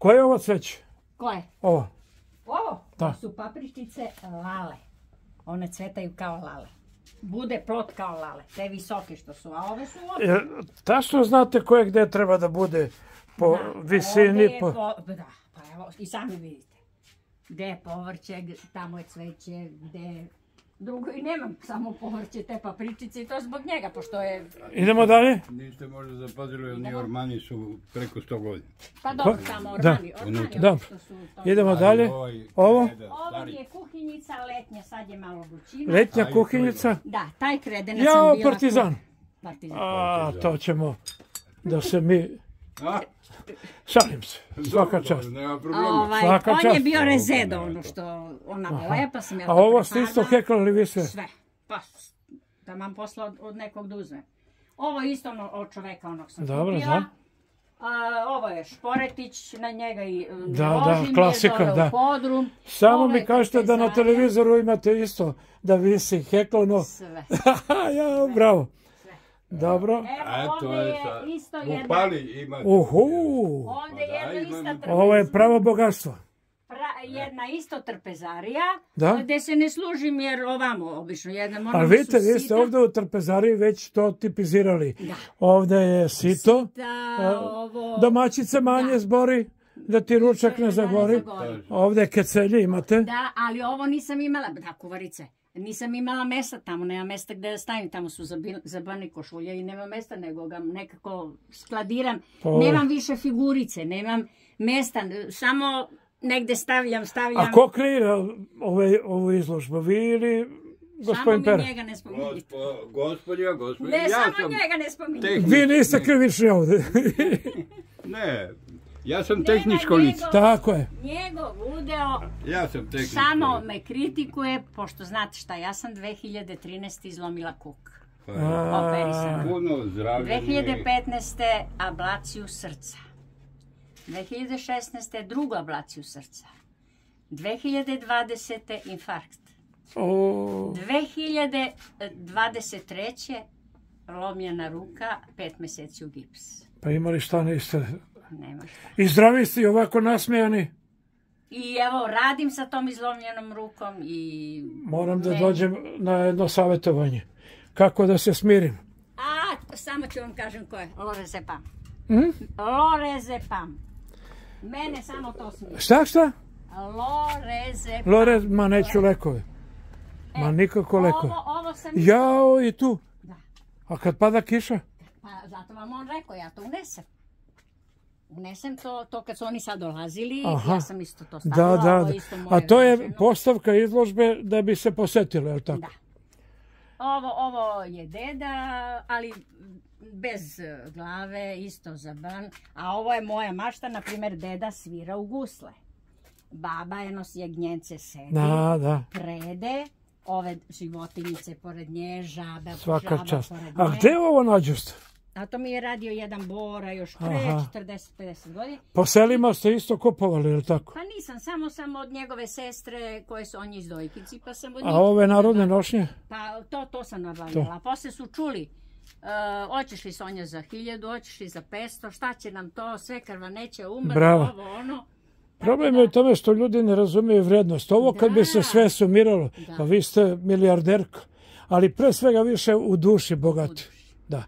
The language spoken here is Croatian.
Koje je ovo cveće? Koje? Ovo. Ovo? Da. To su papričice lale. One cvetaju kao lale. Bude plot kao lale. Te visoke što su, a ove su ovdje. Tačno znate koje gde treba da bude po visini? Da, pa evo, i sami vidite. Gde je povrće, tamo je cveće, gde je... Drugo i nemam samo povrće, te papričice i to zbog njega, pošto je... Idemo dalje? Niste možda zapadili, oni ormani su preko 100 godina. Pa dobro, tamo ormani. Dobro. Idemo dalje. Ovo? Ovo je kuhinjica letnja, sad je malo vrućina. Letnja kuhinjica? Da, taj kredenac sam Jao, bila... partizan. A, to ćemo da se mi... Šalim se, svaka čast. On je bio rezedo, ono što ona lepa sam ja to A ovo ste isto heklali vi sve? Sve, pa da vam posla od nekog da uzmem. Ovo je isto od čoveka onog sam kupila. Ovo je šporetić, na njega i ložim je dole u podrum. Samo mi kažete da na televizoru imate isto da visi heklano. Sve. Ja, bravo. Dobro. Evo, ovdje je isto jedna... Ovdje je jedna ista trpezarija. Ovo je pravo bogatstvo. Jedna isto trpezarija, gdje se ne služim jer ovamo obično jedna mora... Ali vidite, vi ste ovdje u trpezariji već to tipizirali. Ovdje je sito, domaćice manje zbori, da ti ručak ne zagori. Ovdje kecelje imate. Da, ali ovo nisam imala, da, kuvarice. Nisam imala mesta tamo, nema mesta gdje da stavim, tamo su zabane košulje i nema mesta, nego ga nekako skladiram. Nemam više figurice, nemam mesta, samo negdje stavljam. A ko kreira ovu izložbu, vi ili gospodin Pera? Samo mi njega ne spominjite. Gospodin. Ne, samo njega ne spominjite. Vi niste krivični ovdje. Ne. Ja sam tehničko lice. Tako je. Njegov udeo samo me kritikuje, pošto znate šta, ja sam 2013. izlomila kuk. Operisana. 2015. ablaciju srca. 2016. drugu ablaciju srca. 2020. infarkt. 2023. lomljena ruka, 5 mjeseci u gips. Pa imali šta niste... Nema šta. I zdravi ste i ovako nasmijani? I evo, radim sa tom izlomljenom rukom i... Moram da dođem na jedno savjetovanje. Kako da se smirim? Samo ću vam kažem ko je. Lorezepam. Lorezepam. Mene samo to smije. Šta? Lorezepam. Ma neću lekove. Ma nikako lekove. Ovo sam... Jao, i tu? Da. A kad pada kiša? Pa zato vam on rekao, ja to unesem. Unesem to kad su oni sad dolazili, ja sam isto to stavila. Da. A to je postavka izložbe da bi se posetilo, je li tako? Da. Ovo je deda, ali bez glave, isto zaban. A ovo je moja mašta, na primjer, deda svira u gusle. Baba jagnjence sedi, prede, ove životinjice pored nje, žaba Svaka čast. pored nje. A gdje ovo nađoste? A to mi je radio jedan Bora još pre 40-50 godina. Po selima ste isto kupovali, je li tako? Pa nisam, samo od njegove sestre koje su on iz Dojkici, pa sam od njih... A ove narodne nošnje? Pa to sam nabavljala. Posle su čuli, hoćeš li Sonja za 1000, hoćeš li za 500, šta će nam to, sve krva neće umrti, ovo ono. Problem je u tome što ljudi ne razumiju vrednost. Ovo kad bi se sve sumiralo, pa vi ste milijarderka, ali pre svega više u duši bogati. Da.